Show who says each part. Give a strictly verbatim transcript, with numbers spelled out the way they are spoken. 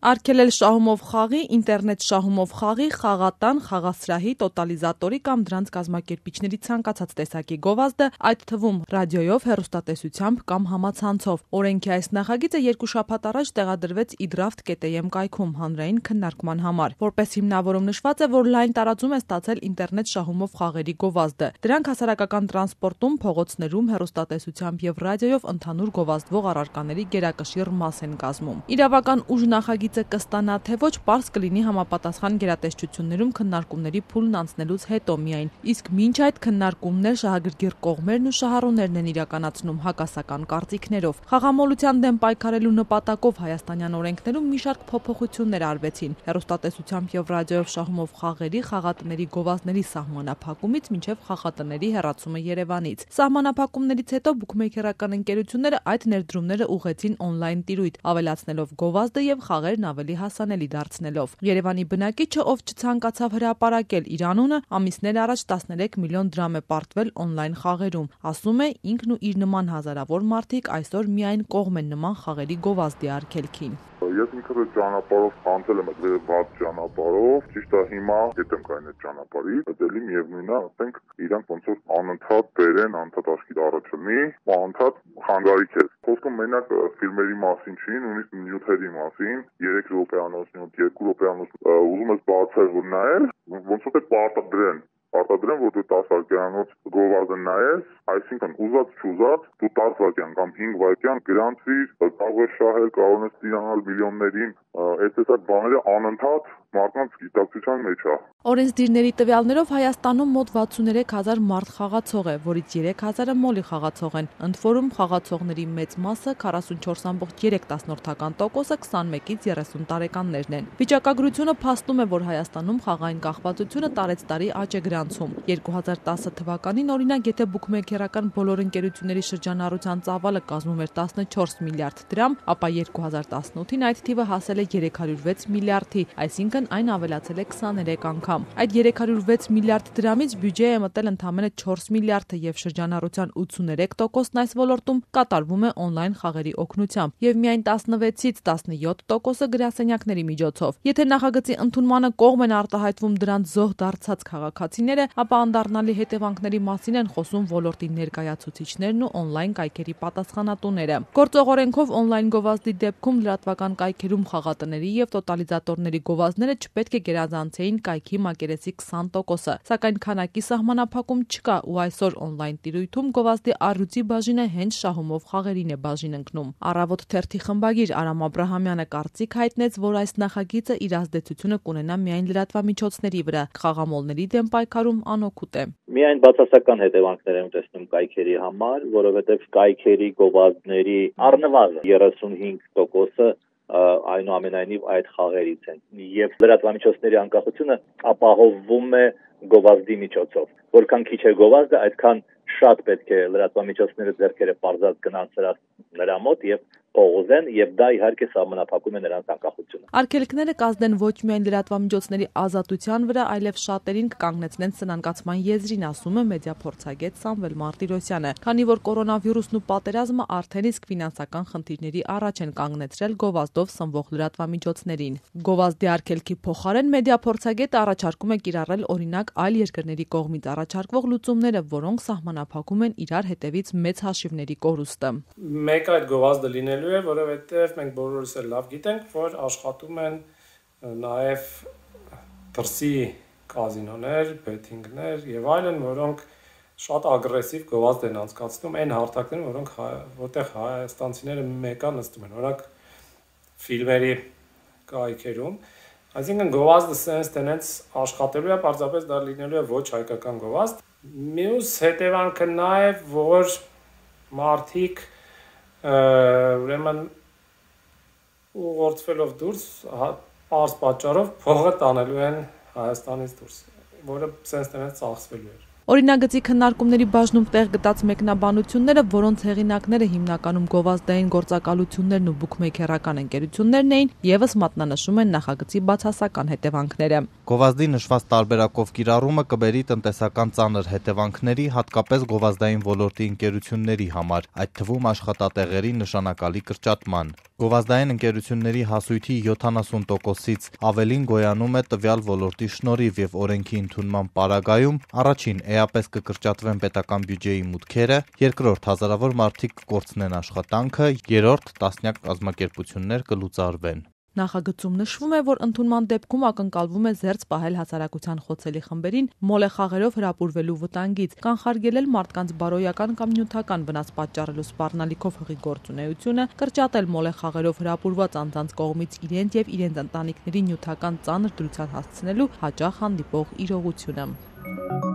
Speaker 1: Արգելել շահումով խաղի, ինտերնետ շահումով խաղի, խաղատան, խաղասրահի, տոտալիզատորի կամ դրանց կազմակերպիչների ցանկացած տեսակի գովազդը, այդ թվում ռադիոյով, հեռուստատեսությամբ կամ համացանցով։ Օրենքի այս նախագիծը երկու շաբաթ առաջ տեղադրվեց իդրաֆտ կետ էյ էմ կայքում հանրային քննարկման համար։ Որպես հիմնավորում նշված է, որ լայն տարածում է ստացել ինտերնետ շահումով խաղերի գովազդը։ Դրանք հասարակական տրանսպորտում, փողոցներում, հեռուստատեսությամբ եւ ռադիոյով ընդհանուր գովազդվող առարկաների գերակշիռ մաս են կազմում։ Իրավական ուժ նախագիծը կստանա, թե ոչ, պարզ կլինի համապատասխան գերատեսչություններում քննարկումների փուլն անցնելուց հետո միայն, իսկ մինչ այդ քննարկումներ շահագրգիռ կողմերն ու շահառուներն են իրականացնում հակասական կարծիքներով։ Խաղամոլության դեմ պայքարելու նպատակով հայաստանյան օրենքներում մի շարք փոփոխություններ արվեցին, հեռուստատեսությամբ եւ ռադիոյով շահումով խաղերի, խաղատների գովազդների սահմանափակումից մինչեւ խաղատների հեռացումը Երևանից։ Սահմանափակումներից հետո բուքմեյքերական ընկերությունները այդ ներդրումները ուղղեցին օնլայն տիրույթ, ավելացնելով գովազդը եւ խաղերն ավելի հասանելի դարձնելով։ Երևանի բնակիչը, ով չցանկացավ հրապարակել իր անունը, ամիսներ առաջ տասներեք միլիոն դրամ է պարտվել օնլայն խաղերում։ Ասում է, ինքն ու իր նման հազարավոր մարդիկ այսօր միայն կողմ են նման խաղերի գովազդի արգելքին։
Speaker 2: Ես ինքս ճանապարհով խանձել եմ այդ վատ ճանապարհով, ճիշտ է հիմա հետ եմ գային այդ ճանապարհից, բայց էլի միևնույնն է, ասենք իրանք ոնց որ անընդհատ բերեն, անընդհատ աշխիտ առաջնի, անընդհատ խանգարիչ է։ Խոսքում մենակ ֆիլմերի մասին չի, նույնիսկ նյութերի մասին, երեք րոպեանոց նյութ, երկու րոպեանոց ուզում ես բացել որ նայել, ոնց որ պարտադրեն Պարտադրեն, որ դու տասը վայրկյանոց գովազդը նայես, այսինքն ուզած չուզած դու տասը վայրկյան կամ հինգ վայրկյան գրանցվիր, կարող ես շահել, կարող ես ստանալ միլիոններին, այս տեսակ բաները անընդհատ մարդկանց գիտակցության մեջ է։
Speaker 1: Օրենսդիրների տվյալներով Հայաստանում մոտ վաթսուներեք հազար մարդ խաղացող է, որից երեք հազարը մոլի խաղացող են, ընդ որում խաղացողների մեծ մասը քառասունչորս կόμμα երեք տոկոսը քսանմեկից երեսուն տարեկաններն են։ Վիճակագրությունը փաստում է, որ Հայաստանում խաղային կախվածությունը տարեցտարի աճ է գրանցում։ երկու հազար տասը թվականին օրինակ, եթե բուքմեյքերական բոլոր ընկերությունների շրջանառության ծավալը կազմում էր տասնչորս միլիարդ դրամ, ապա երկու հազար տասնութին այդ թիվը հասել է երեք հարյուր վեց միլիարդի, այսինքն այն ավելացել է քսաներեք անգամ։ Այդ երեք հարյուր վեց միլիարդ դրամից բյուջե է մտել ընդամենը չորս միլիարդը եւ շրջանառության ութսուներեք տոկոսն այս ոլորտում կատարվում է օնլայն խաղերի օգնությամբ եւ միայն տասնվեցից տասնյոթ տոկոսը գրասենյակների միջոցով։ Եթե նախագծի ընդունմանը կողմ են արտահայտվում դրանց զոհ դարձած քաղաքացիները, ապա անդառնալի հետևանքների մասին են խոսում ոլորտի ներկայացուցիչներն ու օնլայն կայքերի պատասխանատուները։ Գործող օրենքով օնլայն գովազդի դեպքում լրատվական կայքերում խաղատների եւ տոտալիզատորների գովազդները չպետք է գերազանցեին կայքի մակերեսի քսան տոկոսը, սակայն քանակի սահմանափակում չկա ու այսօր օնլայն տիրույթում գովազդի առյուծի բաժինը հենց շահումով խաղերին է բաժին ընկնում։ Առավոտ թերթի խմբագիր Արամ Աբրահամյանը կարծիք հայտնեց, որ այս նախագիծը իր ազդեցությունը կունենա միայն լրատվամիջոցների վրա, խաղամոլների դեմ պայքարում անօգուտ է։
Speaker 3: Միայն բացասական հետևանքներ եմ տեսնում կայքերի համար, որովհետև կայքերի գովազդների առնվազն երեսունհինգ տոկոսը այնուամենայնիվ այդ խաղերից են եւ լրատվամիջոցների անկախությունը ապահովվում է գովազդի միջոցով։ Որքան քիչ է գովազդը, այդքան շատ պետք է լրատվամիջոցները ձեռքերը պարզած գնան սրա նրա մոտ եւ փողոզեն եւ դա իհարկե սահմանափակում է նրանց անկախությունը։
Speaker 1: Արգելքները կազդեն ոչ միայն լրատվամիջոցների ազատության վրա, այլև շատերին կկանգնեցնեն սնանկացման եզրին, ասում է մեդիափորձագետ Սամվել Մարտիրոսյանը, քանի որ կորոնավիրուսն ու պատերազմը արդեն իսկ ֆինանսական խնդիրների առաջ են կանգնեցրել գովազդով սնվող լրատվամիջոցներին։ Գովազդի արգելքի փոխարեն մեդիափորձագետը առաջարկում է կիրառել օրինակ այլ երկրների կողմից առաջարկվող լուծումները, որոնք սահմանափակում են իրար հետևից մեծ հաշիվների կորուստը։
Speaker 4: Մեկ այդ գովազդը լինելու է, որովհետև մենք բոլորս էլ լավ գիտենք, որ աշխատում են նաև դրսի կազինոներ, բեթինգներ եւ այլն, որոնք շատ ագրեսիվ գովազդ են անցկացնում այն հարթակներում, որոնք որտեղ հայաստանցիները մեկա նստում են, օրինակ ֆիլմերի կայքերում, այսինքն գովազդը sense տենց աշխատելու է, պարզապես դա լինելու է ոչ հայկական գովազդ։ Մյուս հետևանքը նա է, որ մարդիկ ուրեմն ուղղորդվելով դուրս պարզ պատճառով փողը տանելու են Հայաստանից դուրս, որը sense տենց ծախսվելու է։
Speaker 1: Օրինագծի քննարկումների բաժնում տեղ գտած մեկնաբանությունները, որոնց հեղինակները հիմնականում գովազդային գործակալություններն ու բուքմեյքերական ընկերություններն էին, ևս մատնանշում են նախագծի բացասական հետևանքները։
Speaker 5: Գովազդի նշված տարբերակով կիրառումը կբերի տնտեսական ծանր հետևանքների, հատկապես գովազդային ոլորտի ընկերությունների համար, այդ թվում աշխատատեղերի նշանակալի կրճատման։ Գովազդային ընկերությունների հասույթի յոթանասուն տոկոսից ավելին գոյանում է տվյալ ոլորտի շնորհիվ եւ օրենքի ընդունման պարագայում առաջին էապես կկրճատվեն պետական բյուջեի մուտքերը, երկրորդ հազարավոր մարդիկ կկորցնեն աշխատանքը, երրորդ տասնյակ կազմակերպություններ կլուծարվեն։
Speaker 1: Նախագծում նշվում է, որ ընդունման դեպքում ակնկալվում է զերծ պահել հասարակության խոցելի խմբերին մոլեխաղերով հրապուրվելու վտանգից, կանխարգելել մարդկանց բարոյական կամ նյութական վնաս պատճառելու սպառնալիքով հղի գործունեությունը, կրճատել մոլեխաղերով հրապուրված անձանց կողմից իրենց եւ իրենց ընտանիքների նյութական ծանր դրության հասցնելու հաճախ հանդիպող իրողությունը։